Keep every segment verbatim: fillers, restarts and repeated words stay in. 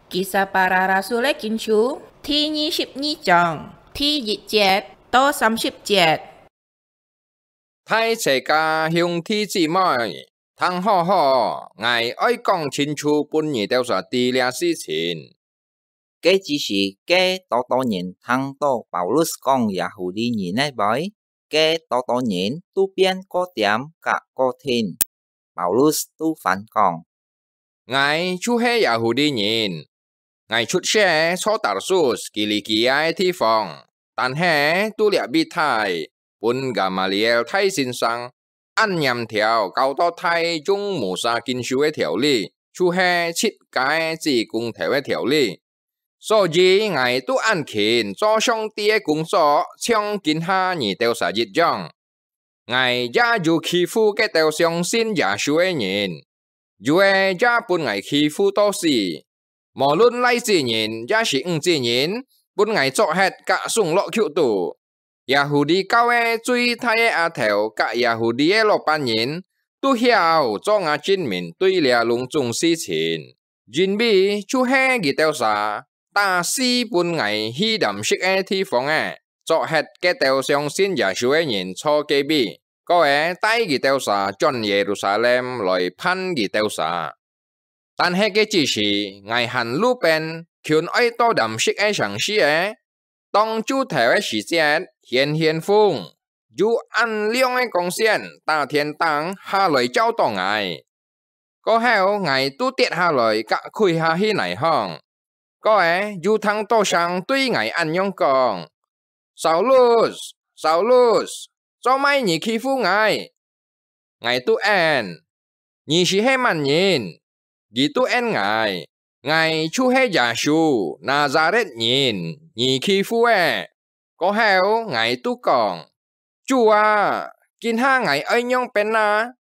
Kisah Para Rasul-é Kinsú第二十二章第一節到三十節。大齊家兄弟姊妹，聽好好，𠊎愛講清楚分你兜儕知這事情。該之時，該多多人聽到Paulus講Yahudi人个話，該多多人都變過恬佮過定。Paulus都還講：「𠊎就係Yahudi人，𠊎出世坐Tarsus Kilikia个地方，但係都這位大，分Gamaliel大先生恁嚴條教到大用Musa Kinsú个條理，就係自家个子公頭个條理。所以𠊎都恁勤做上帝个工作，像今下你兜儕一樣。」 𠊎也有欺負該兜相信耶穌个人，有个也分𠊎欺負到死。無論倈子人也係女子人，分𠊎捉忒佮送落監肚。Yahudi教个最大个阿頭佮Yahudi个老闆人，都曉做吾證明對這攏總事情。 因為就係佢兜儕打死分𠊎去Damskik个地方仔，捉忒該兜相信耶穌个人坐該位，過仔帶佢兜儕轉Yerusalem來判佢兜儕。但係該之時，𠊎還路邊，勤愛到Damskik个城市仔， 當晝頭个時節，顯顯風，有恁亮个光線打天頂下來照著𠊎。過後，𠊎都跌下來，佮跪下去泥項。過仔，有聽著聲對𠊎恁樣講：「掃祿，掃祿，做麼你欺負𠊎？」 𠊎都應：「你係麼人？」佢都應𠊎：「𠊎就係耶穌，拿撒勒人，你欺負个。」過後，𠊎都講：「主啊，今下𠊎愛仰般啊？」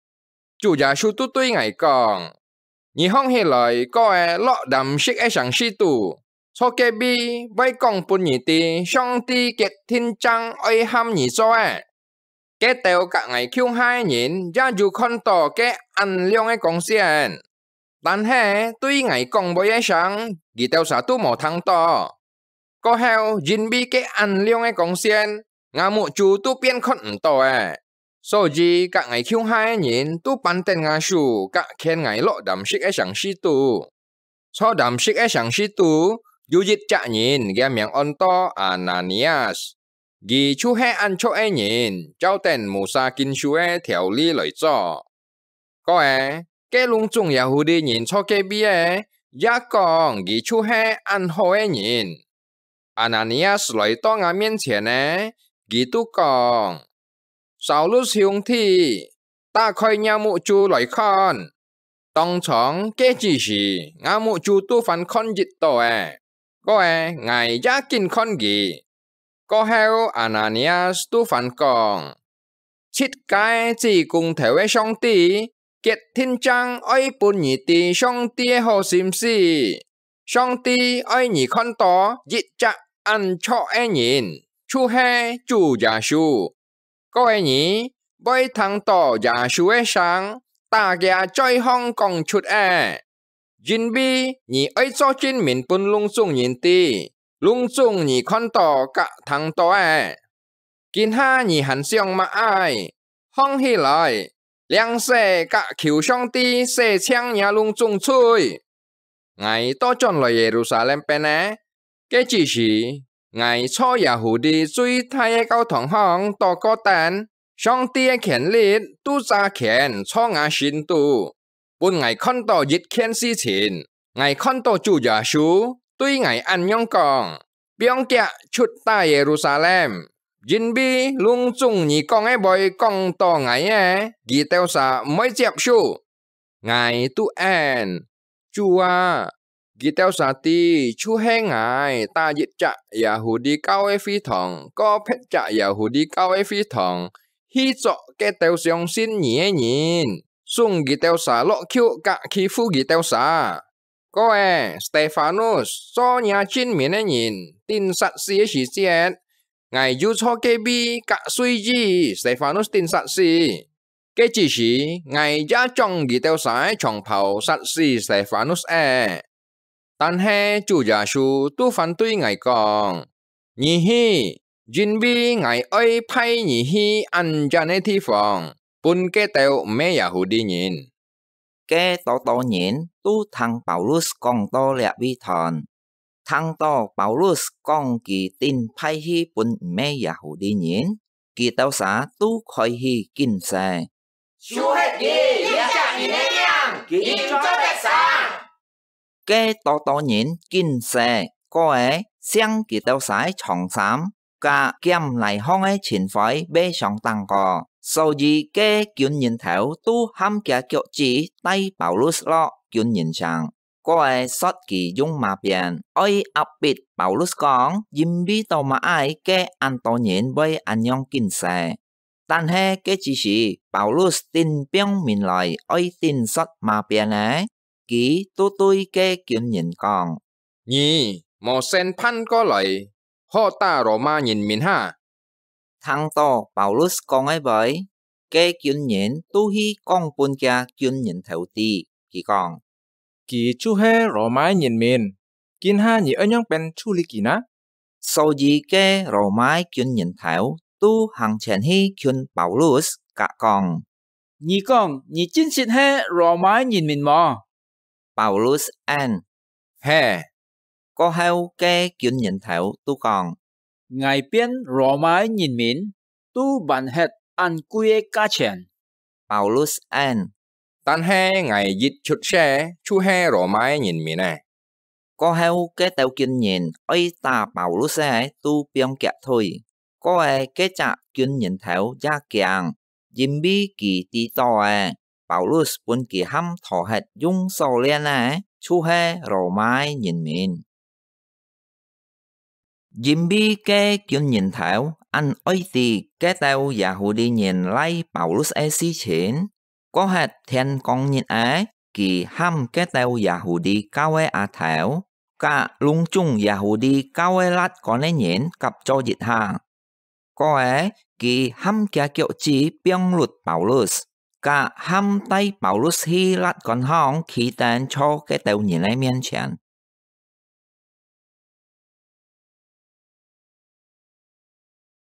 主耶穌都對𠊎講：「你䟘起來，過仔落Damskik个城市肚，坐該位會講分你知上帝決定正愛喊你做个。」 該兜佮𠊎共下个人也有看著該恁亮个光線，但係對𠊎講話个聲，佢兜儕都無聽著。過後，因為該恁亮个光線，吾目珠都變看毋著了。所以佮𠊎共下个人都扳等吾手，佮牽𠊎落Damskik个城市肚。 坐Damskik个城市肚，有一隻人，厥名安到Ananias，佢就係恁著个人，照等Musa Kinsú个條理來做。過仔，該攏總Yahudi人坐該位个，也講佢就係恁好个人。 Ananias來到吾面前呢，佢都講：「掃祿兄弟，打開你目珠來看。」當場該之時，吾目珠都還看得著了，過仔𠊎也緊看佢。過後Ananias都還講： 自家个子公頭个上帝，決定正愛分你知上帝个好心思。上帝愛你看著一隻恁著个人，就係主耶穌。過仔你會聽著耶穌个聲，打厥嘴項講出个，因為你愛做證明分攏總人知，攏總你看著佮聽著个。 今下你還想麼个？䟘起來，領洗佮求上帝洗淨若攏總罪。𠊎倒轉來Yerusalem變呢，該之時，𠊎坐Yahudi最大个教堂項禱告等，上帝个權力都揸權坐吾身肚， 分𠊎看著一件事情，𠊎看著主耶穌對𠊎恁樣講：「放厥出打Yerusalem，因為攏總你講个話講著𠊎个，佢兜儕毋會接受。」𠊎都應：「主啊，佢兜儕知，就係𠊎打一隻Yahudi教个會堂，過別隻Yahudi教个會堂， 去捉該兜相信你个人，送佢兜儕落監佮欺負佢兜儕。」過仔，Stefanus做若證明个人，釘殺死个時節，𠊎又坐該位佮隨意Stefanus釘殺死。該之時，𠊎也將佢兜儕个長袍殺死Stefanus仔。但係主耶穌都反對𠊎講：「你去，因為𠊎愛派你去恁遠个地方，分該兜毋係Yahudi人。」該多多人都聽Paulus講到這位段，聽到Paulus講佢定派去分毋係Yahudi人，佢兜儕都開始禁誓：「就係佢這隻人个名，佢做得生。」該多多人禁誓，過仔淨佢兜儕長衫，甲兼泥項个塵灰未相當過，所以該軍人頭都含厥腳趾帶Paulus落軍人城，過仔說佢用馬鞭，愛壓迫Paulus講，因為到麼个該恁多人會恁樣禁誓。但係該之時，Paulus頂放面來愛頂說馬鞭仔，佢都對該軍人講：「你無先盤過來，好打羅馬人民哈！」聽到Paulus講个話，該軍人都去講分厥軍人頭知，佢講：「佢就係羅馬人民，今下你愛仰般處理佢呢？」所以該羅馬軍人頭都行前去近Paulus，甲講：「你講你真實係羅馬人民無？」Paulus應：「係。」過後該軍人頭都講：「𠊎變羅馬人民，都還核恁貴个價錢。」Paulus應：「但係𠊎一出世就係羅馬人民呢。」過後該兜軍人愛打Paulus个都放厥腿，過仔該隻軍人頭也驚，因為佢知到仔，Paulus分佢含討核用鎖鏈个，就係羅馬人民。因為該軍人頭恁愛知該兜Yahudi人賴Paulus个事情，過核天光日仔，佢喊該兜Yahudi教个阿頭，甲攏總Yahudi教个辣官个人合做一下。過仔，佢含厥腳趾放搦Paulus，甲含帶Paulus去辣官項企等坐該兜人个面前，